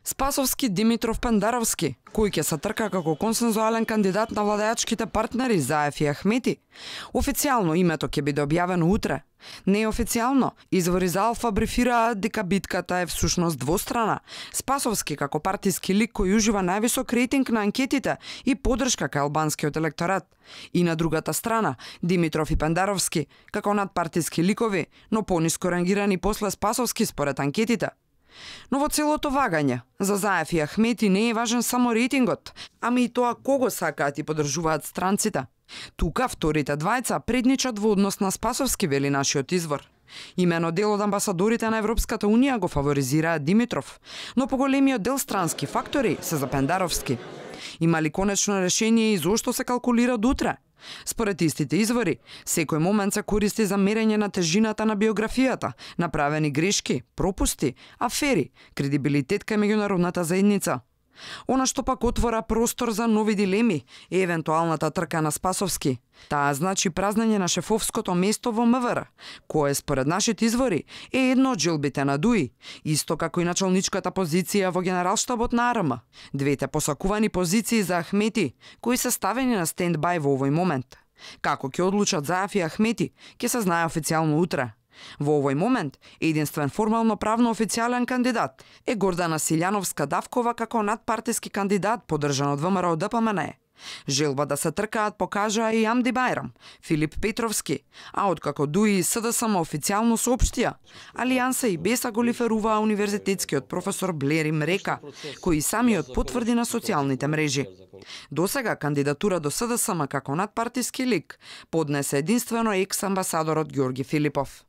Спасовски, Димитров, Пендаровски, кој ќе се трка како консензуален кандидат на владеачките партнери Заев и Ахмети. Официјално името ќе биде објавено утре. Неофицијално, извори за Алфа брифираат дека битката е всушност двострана. Спасовски како партиски лик кој ужива највисок рейтинг на анкетите и поддршка кај албанскиот електорат. И на другата страна, Димитров и Пендаровски како надпартиски ликови, но пониско рангирани после Спасовски според анкетите. Но во целото вагање, за Заев и Ахмети не е важен само рейтингот, ами и тоа кого сакаат и поддржуваат странците. Тука вторите двајца предничат во однос на Спасовски, вели нашиот извор. Имено дел од амбасадорите на Европската Унија го фаворизираат Димитров, но поголемиот дел странски фактори се за Пендаровски. Има ли конечно решение и зошто се калкулира до утре? Според истите извори, секој момент се користи за мерење на тежината на биографијата, направени грешки, пропусти, афери, кредибилитет кај меѓународната заедница. Она што пак отвора простор за нови дилеми е евентуалната трка на Спасовски. Таа значи празнење на шефовското место во МВР, кое според нашите извори е едно од желбите на ДУИ, исто како и началничката позиција во Генералштабот на АРМ. Двете посакувани позиции за Ахмети, кои се ставени на стендбај во овој момент. Како ќе одлучат Заев и Ахмети, ќе се знае официјално утре. Во овој момент, единствен формално правно официјален кандидат е Гордана Силјановска-Давкова како надпартиски кандидат поддржан од ВМРО ДПМН. Желба да се тркаат покажаа и Амди Бајрам, Филип Петровски, а откако ДУИ и СДСМ официјално соопштија, Алијанса и Беса го лиферуваа универзитетскиот професор Блери Мрека, кој самиот потврди на социјалните мрежи. Досега кандидатура до СДСМ како надпартиски лик поднесе единствено екс-амбасадорот Ѓорги Филипов.